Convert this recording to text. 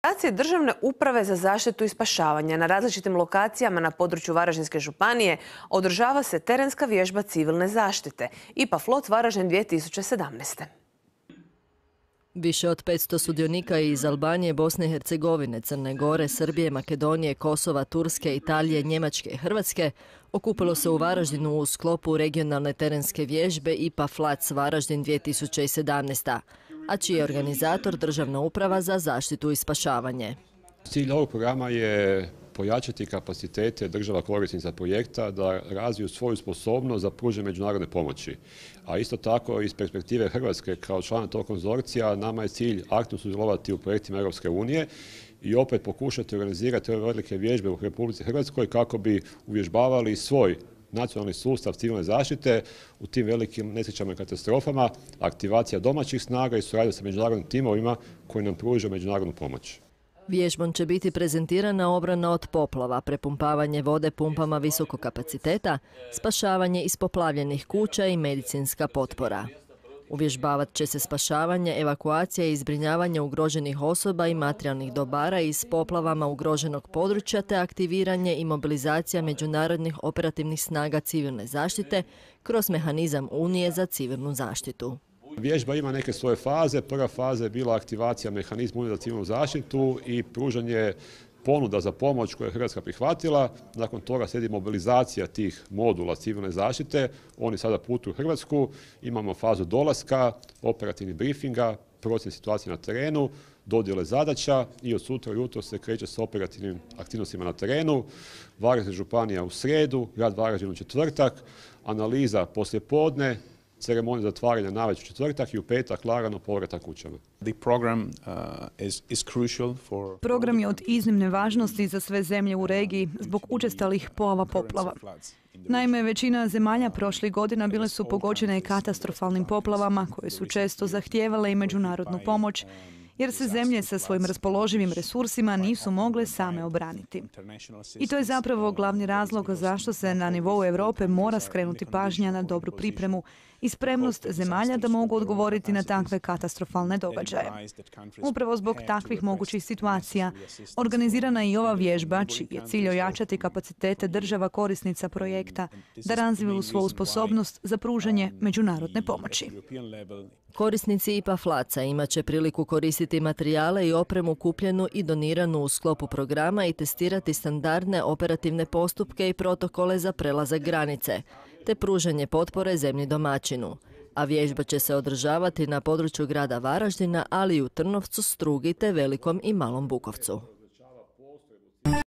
lokacije Državne uprave za zaštitu i spašavanje na različitim lokacijama na području Varaždinske županije održava se terenska vježba civilne zaštite IPA Flot Varaždin 2017. Više od 500 sudionika iz Albanije, Bosne i Hercegovine, Crne Gore, Srbije, Makedonije, Kosova, Turske, Italije, Njemačke i Hrvatske okupilo se u Varaždinu u sklopu regionalne terenske vježbe IPA Flot Varaždin 2017. a čiji je organizator Državna uprava za zaštitu i spašavanje. Cilj ovog programa je pojačati kapacitete država korisnica projekta da razviju svoju sposobnost za pružanje međunarodne pomoći. A isto tako iz perspektive Hrvatske kao člana tog konzorcija nama je cilj aktivno sudjelovati u projektima Europske unije i opet pokušati organizirati ove velike vježbe u Republici Hrvatskoj kako bi uvježbavali svoj nacionalni sustav civilne zaštite u tim velikim nesrećama i katastrofama, aktivacija domaćih snaga i suradnja sa međunarodnim timovima koji nam pružaju međunarodnu pomoć. Vježbom će biti prezentirana obrana od poplava, prepumpavanje vode pumpama visokog kapaciteta, spašavanje iz poplavljenih kuća i medicinska potpora. Uvježbavat će se spašavanje, evakuacija i zbrinjavanje ugroženih osoba i materijalnih dobara iz poplavama ugroženog područja te aktiviranje i mobilizacija međunarodnih operativnih snaga civilne zaštite kroz mehanizam Unije za civilnu zaštitu. Vježba ima neke svoje faze. Prva faza je bila aktivacija mehanizma Unije za civilnu zaštitu i pružanje ponuda za pomoć koje je Hrvatska prihvatila. Nakon toga slijedi mobilizacija tih modula civilne zaštite. Oni sada putuju u Hrvatsku. Imamo fazu dolaska, operativnih briefinga, procjene situacije na terenu, dodjele zadaća i od sutra ujutro se kreće s operativnim aktivnostima na terenu. Varaždinska županija u srijedu, grad Varaždin u četvrtak, analiza poslijepodne, ceremonija zatvaranja navečer u četvrtak i u petak lagano povratak kućama. Program je od iznimne važnosti za sve zemlje u regiji zbog učestalih pojava poplava. Naime, većina zemalja prošlih godina bile su pogođene katastrofalnim poplavama koje su često zahtijevale i međunarodnu pomoć, jer se zemlje sa svojim raspoloživim resursima nisu mogle same obraniti. I to je zapravo glavni razlog zašto se na nivou Europe mora skrenuti pažnja na dobru pripremu i spremnost zemalja da mogu odgovoriti na takve katastrofalne događaje. Upravo zbog takvih mogućih situacija organizirana je i ova vježba, čiji je cilj ojačati kapacitete država korisnica projekta da razviju svoju sposobnost za pružanje međunarodne pomoći. Korisnici IPA Flot-a imat će priliku koristiti materijale i opremu kupljenu i doniranu u sklopu programa i testirati standardne operativne postupke i protokole za prelazak granice, te pružanje potpore zemlji domaćinu. A vježba će se održavati na području grada Varaždina, ali i u Trnovcu, Strugi te Velikom i Malom Bukovcu.